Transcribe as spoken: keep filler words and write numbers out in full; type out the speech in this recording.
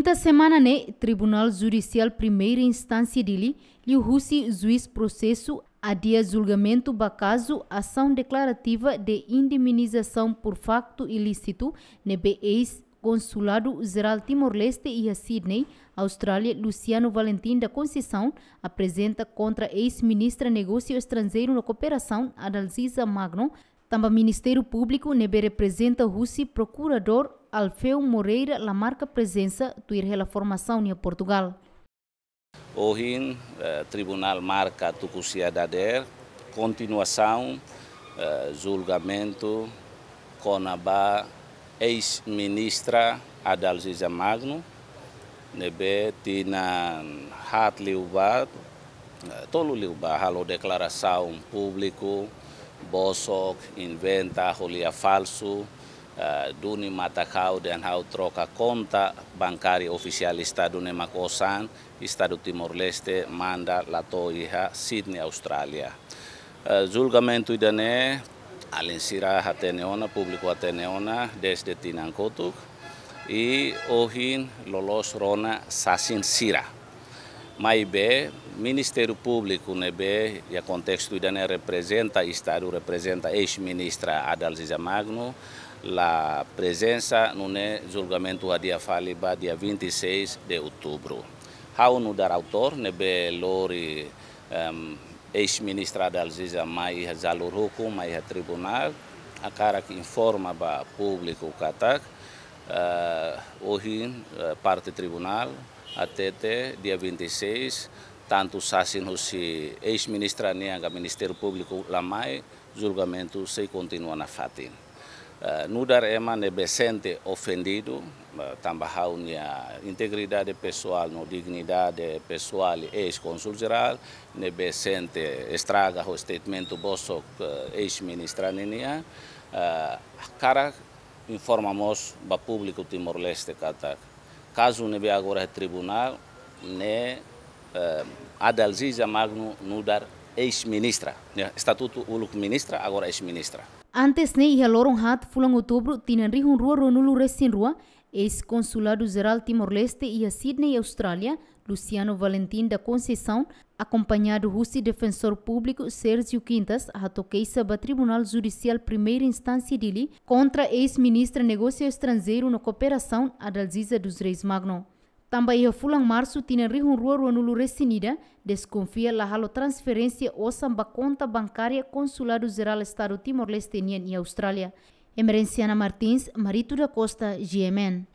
Iha semana ne'e, Tribunál Judisiál Primeira Instánsia Dili liuhusi juís prosesu adia julgamentu ba kazu asaun deklarativa de indemnizasaun por faktu ilísitu ne'ebé eis-Konsuladu Jerál Timor-Leste iha Sydney, Austrália, Luciano Valentim da Conceição, aprezenta kontra eis-ministra Negósiu Estranjeiru no Kooperasaun, Adalziza Magno, tanba Ministériu Públiku ne'ebé reprezenta husi Prokuradór Alfeu Moreira la marka prezensa tuir hela formasaun iha Portugál. Ohin, eh, tribunál marka tuku sia dadeer kontinuasaun, eh, julgamentu kona-ba eis-ministra Adalziza Magno, ne'ebé tinan haat liubá, eh, tolu liubá halo deklarasaun públiku, bosok, inventa, ko'alia falsu, eh, duni matan ha'u dehan ha'u troka konta bankária ofisiál Estadu ne'e mak osan, Estadu Timor-Leste manda la to'o iha Sydney, Austrália. Eh, julgamentu ida-ne'e, alin sira hatene ona, públiku hatene ona, dezde tinan kotuk, i ohin loloos rona sasin sira. Maibé, Ministériu Públiku ne'ebé iha kontestu ida-ne'e reprezenta Estadu, reprezenta eis-ministra Adalziza Magno, la prezensa, nune'e julgamentu hadi'a fali ba dia vinte e seis de outubro. Ha'u nu'udar autór ne'ebé lori, em, eis-ministra Adalziza mai iha jalur hukum, mai iha tribunál, hakarak informa ba públiku katak, eh, ohin, eh, parte tribunál hatete dia vinte e seis, tantu sasin husi eis-ministra nian ka Ministériu Públiku la mai, julgamentu sei kontinua nafatin. Eh, nu'udar ema ne'ebé sente ofendidu, eh, tanba ha'u-nia integridade pesoál no dignidade pesoál eis-Kónsul Jerál, ne'ebé sente estraga ho statement bosok, eh, eis-ministra ninian, eh, hakarak informa mós ba públiku Timor-Leste katak kazu ne'ebé agora iha tribunál ne'e, eh, Adalziza Magno nu'udar eis-ministra. Ya, estatutu uluk ministra, agora eis-ministra. Antes ne'e, iha loron haat fulan Outubru tinan rihun rua ruanulu resin rua, eis-Konsuladu Jerál Timor-Leste iha Sydney, Austrália, Luciano Valentim da Conceição, akompañadu husi Defensór Públiku Sérgio Quintas, hato'o keixa ba Tribunál Judisiál Primeira Instánsia Dili kontra eis-ministra Negósiu Estranjeiru no Kooperasaun, Adalziza dos Reis Magno. Tanba iha fulan Marsu tinan rihun rua ruanulu resin ida, deskonfia la halo transferénsia osan ba konta bankária Konsuladu Jerál Estadu Timor-Leste nian iha Austrália. Emerenciana Martins, Marito da Costa, G M N.